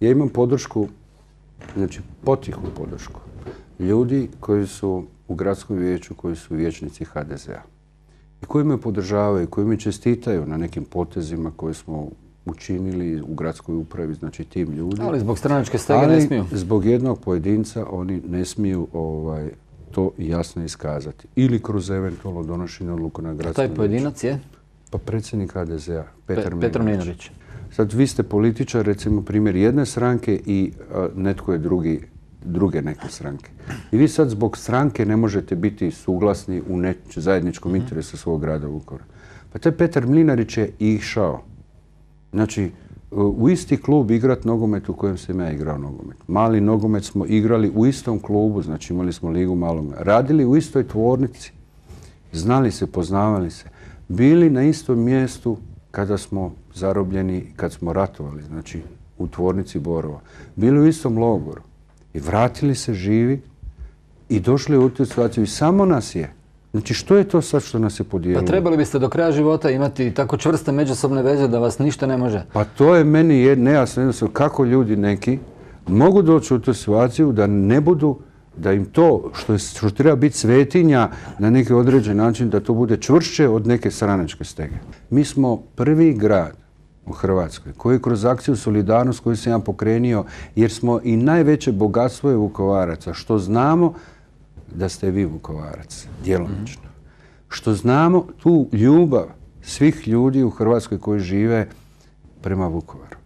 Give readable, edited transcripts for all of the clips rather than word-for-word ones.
Ja imam podršku, znači potihu podršku, ljudi koji su u gradskom vijeću, koji su vijećnici HDZ-a i koji me podržavaju, koji me čestitaju na nekim potezima koje smo učinili u gradskoj upravi, znači tim ljudi. Ali zbog stranačke stege ne smiju. Ali zbog jednog pojedinca oni ne smiju to jasno iskazati. Ili kroz eventualno donošenje odluku na gradskom vijeću. Taj pojedinac je? Pa predsjednik HDZ-a, Petar Mlinarić. Sad vi ste političar, recimo primjer jedne stranke i netko je druge neke stranke. I vi sad zbog stranke ne možete biti suglasni u zajedničkom interesu svog grada Vukovara. Pa taj Petar Mlinarić je išao. Znači, u isti klub igrati nogomet u kojem sam ja igrao nogomet. Mali nogomet smo igrali u istom klubu, znači imali smo ligu malog. Radili u istoj tvornici. Znali se, poznavali se. Bili na istom mjestu kada smo zarobljeni, kad smo ratovali, znači u tvornici Borova. Bili u istom logoru. I vratili se živi i došli u tu situaciju. I samo nas je. Znači što je to sad što nas je podijelilo? Pa trebali biste do kraja života imati tako čvrste međusobne veze da vas ništa ne može. Pa to je meni nejasno jednostavno kako ljudi neki mogu doći u tu situaciju da ne budu, da im to što treba biti svetinja na neki određen način, da to bude čvršće od neke stranačke stege. Mi smo prvi grad u Hrvatskoj koji kroz akciju Solidarnost koju sam ja pokrenio, jer smo i najveće bogatstvo je Vukovaraca, što znamo da ste vi Vukovarac, djelomično. Što znamo tu ljubav svih ljudi u Hrvatskoj koji žive prema Vukovaru.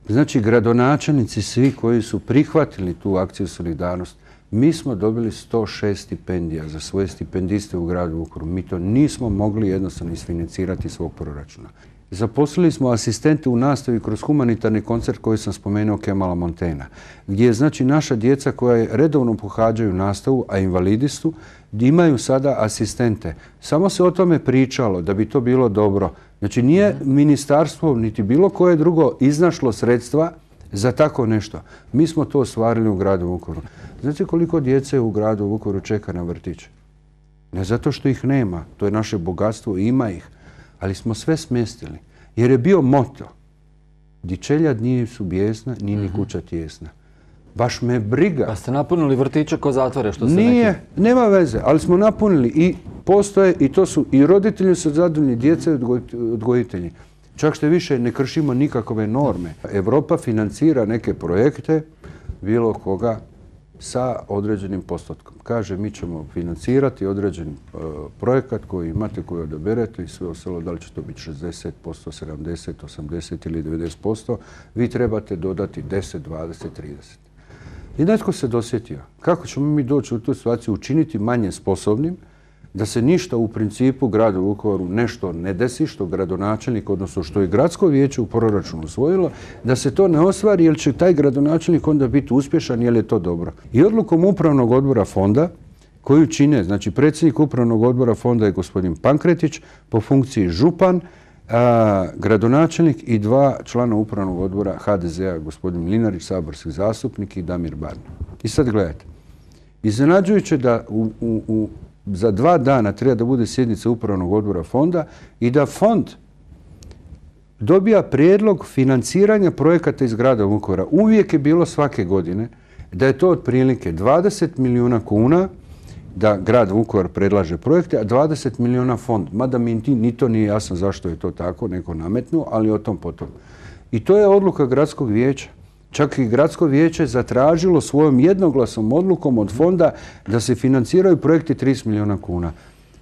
Znači, gradonačelnici svi koji su prihvatili tu akciju Solidarnost, mi smo dobili 106 stipendija za svoje stipendiste u gradu Vukovaru. Mi to nismo mogli jednostavno isfinancirati iz svog proračuna. Zaposlili smo asistente u nastavi kroz humanitarni koncert koji sam spomenuo Kemala Montaignea, gdje znači naša djeca koja redovno pohađaju nastavu, a invalidi su, imaju sada asistente. Samo se o tome pričalo da bi to bilo dobro. Znači nije ministarstvo niti bilo koje drugo iznašlo sredstva za tako nešto. Mi smo to ostvarili u gradu Vukovaru. Znate koliko djece u gradu Vukovaru čeka na vrtić? Ne zato što ih nema, to je naše bogatstvo i ima ih. Ali smo sve smjestili. Jer je bio moto. Di čeljad nije su bijesna, nije ni kuća tijesna. Baš me briga. Pa ste napunili vrtiće ko zatvore, što se Nije, nema veze, ali smo napunili i postoje i to su i roditelji su zadovoljni, djeca i odgojitelji. Čak što više ne kršimo nikakve norme. Europa financira neke projekte, bilo koga, sa određenim postotkom. Kaže, mi ćemo financirati određeni projekat koji imate, koji odaberete i sve ostalo, da li će to biti 60%, 70%, 80% ili 90%, vi trebate dodati 10, 20, 30. I netko se dosjetio. Kako ćemo mi doći u tu situaciju, učiniti manje sposobnim, da se ništa u principu gradu Vukovaru nešto ne desi, što gradonačelnik, odnosno što je gradsko vijeće u proračunu usvojilo, da se to ne ostvari, jer će taj gradonačelnik onda biti uspješan, jer je to dobro. I odlukom upravnog odbora fonda, koju čine, znači predsjednik upravnog odbora fonda je gospodin Pankretić, po funkciji župan, gradonačelnik i 2 člana upravnog odbora HDZ-a, gospodin Mlinarić, saborski zastupnik i Damir Barna. I sad gledajte, iznenađujuće da za 2 dana treba da bude sjednica upravnog odbora fonda i da fond dobija prijedlog financiranja projekata iz grada Vukovara. Uvijek je bilo svake godine da je to otprilike 20 milijuna kuna da grad Vukovar predlaže projekte, a 20 milijuna fond. Mada mi ni to nije jasno zašto je to tako, neko nametnuo, ali o tom potom. I to je odluka gradskog vijeća. Čak i gradsko vijeće zatražilo svojom jednoglasnom odlukom od fonda da se financiraju projekti 30 milijuna kuna.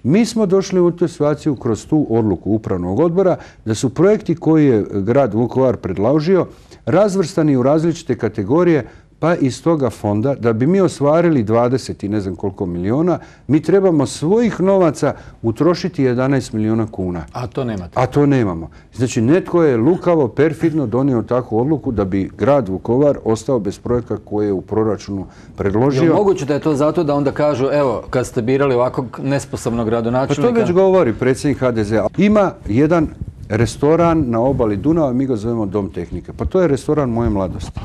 Mi smo došli u tu situaciju kroz tu odluku upravnog odbora da su projekti koje je grad Vukovar predložio razvrstani u različite kategorije, pa iz toga fonda, da bi mi ostvarili 20 i ne znam koliko milijuna, mi trebamo svojih novaca utrošiti 11 milijuna kuna. A to nemate? A to nemamo. Znači, netko je lukavo, perfidno donio takvu odluku da bi grad Vukovar ostao bez projekta koje je u proračunu predložio. Je moguće da je to zato da onda kažu, evo, kad ste birali ovakvog nesposobnog gradonačelnika? Pa to već govori predsjednik HDZ-a. Ima jedan restoran na obali Dunava, mi ga zovemo Dom tehnike. Pa to je restoran moje mladosti.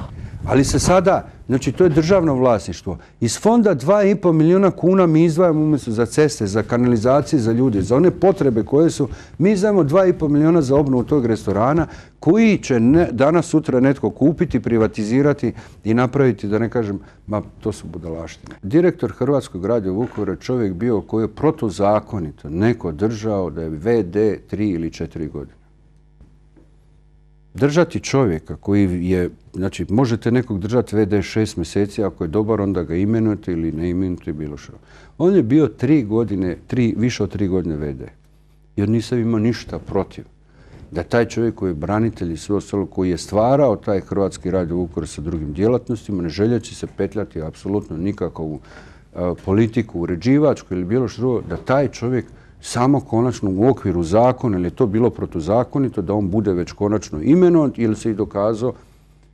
Ali se sada Znači, to je državno vlasništvo. Iz fonda 2,5 milijuna kuna mi izdvajamo umjesto za ceste, za kanalizacije, za ljude, za one potrebe koje su, mi izdvajamo 2,5 milijuna za obnovu tog restorana koji će danas sutra netko kupiti, privatizirati i napraviti, da ne kažem, ma to su budalaštine. Direktor Hrvatskog radija Vukovara čovjek bio koji je protuzakonito neko držao da je VD 3 ili 4 godine. Držati čovjeka koji je, znači možete nekog držati VD 6 mjeseci, ako je dobar onda ga imenujete ili ne imenujete bilo što. On je bio 3 godine, više od 3 godine VD. Jer nisam imao ništa protiv da taj čovjek koji je branitelj i sve ostalo, koji je stvarao taj Hrvatski radio Vukovar sa drugim djelatnostima, ne željeći se petljati apsolutno nikakvu politiku, uređivačku ili bilo što drugo, da taj čovjek samo konačno u okviru zakona, ili je to bilo protuzakonito, da on bude već konačno imenovan ili se i dokazao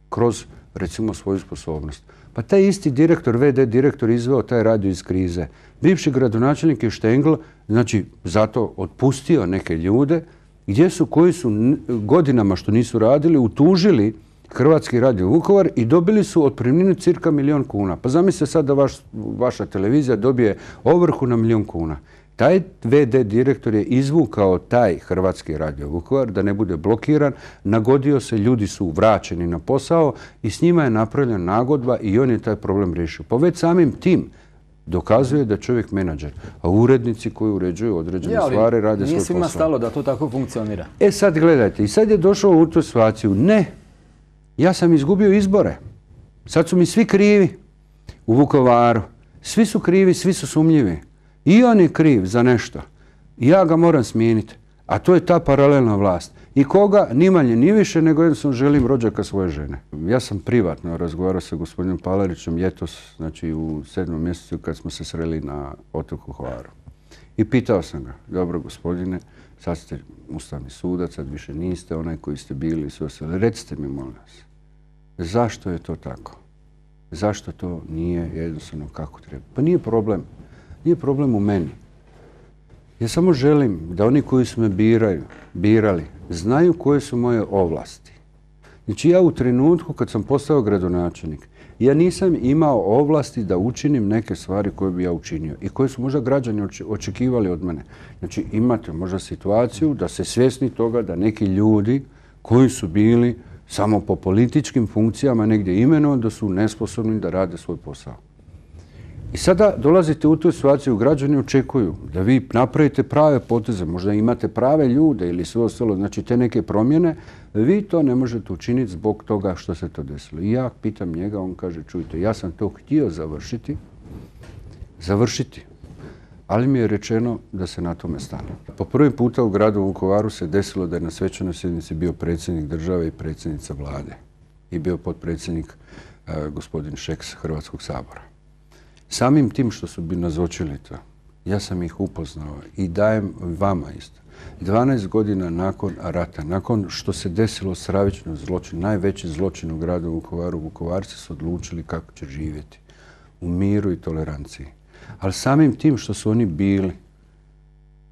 kroz, recimo, svoju sposobnost. Pa taj isti direktor, VD direktor, izveo taj radio iz krize. Bivši gradonačelnik je Štengl, znači, zato otpustio neke ljude, koji su godinama što nisu radili, utužili Hrvatski radio Vukovar i dobili su otpremninu cirka 1 milijun kuna. Pa zamislite sad da vaša televizija dobije ovrhu na 1 milijun kuna. Taj VD direktor je izvukao taj Hrvatski radio Vukovar da ne bude blokiran, nagodio se, ljudi su vraćeni na posao i s njima je napravljena nagodba i on je taj problem riješio. Pa već samim tim dokazuje da je čovjek menadžer, a urednici koji uređuju određene stvari rade svoj posao. Nije svima stalo da to tako funkcionira. E sad gledajte, i sad je došao u tu situaciju. Ne, ja sam izgubio izbore. Sad su mi svi krivi u Vukovaru. Svi su krivi, svi su sumnjivi. I on je kriv za nešto. I ja ga moram smijeniti. A to je ta paralelna vlast. I koga? Ni manje, ni više, nego jednostavno želim rođaka svoje žene. Ja sam privatno razgovarao sa gospodinom Palarićem ljetos, znači u 7. mjesecu kad smo se sreli na otoku Hvaru. I pitao sam ga, dobro gospodine, sad ste ustavni sudac, sad više niste onaj koji ste bili i sve ostale. Recite mi, molim vas, zašto je to tako? Zašto to nije jednostavno kako treba? Pa nije problem. Nije problem u meni. Ja samo želim da oni koji su me birali znaju koje su moje ovlasti. Znači ja u trenutku kad sam postao gradonačelnik, ja nisam imao ovlasti da učinim neke stvari koje bi ja učinio i koje su možda građani očekivali od mene. Znači imate možda situaciju da se svjesni toga da neki ljudi koji su bili samo po političkim funkcijama negdje imenovani da su nesposobni da rade svoj posao. I sada dolazite u tu situaciju, građani očekuju da vi napravite prave poteze, možda imate prave ljude ili sve ostalo, znači te neke promjene, vi to ne možete učiniti zbog toga što se to desilo. I ja pitam njega, on kaže, čujte, ja sam to htio završiti, ali mi je rečeno da se na tome stane. Po prvi puta u gradu Vukovaru se desilo da je na svečanoj sjednici bio predsjednik države i predsjednica vlade i bio potpredsjednik gospodin Šeks Hrvatskog sabora. Samim tim što su bi nazočili to, ja sam ih upoznao i dajem vama isto. 12 godina nakon rata, nakon što se desilo stravično zločin, najveći zločin u gradu Vukovaru, Vukovarci su odlučili kako će živjeti u miru i toleranciji. Ali samim tim što su oni bili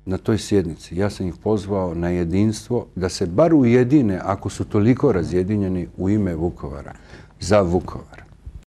na toj sjednici, ja sam ih pozvao na jedinstvo, da se bar ujedine, ako su toliko razjedinjeni, u ime Vukovara, za Vukovar.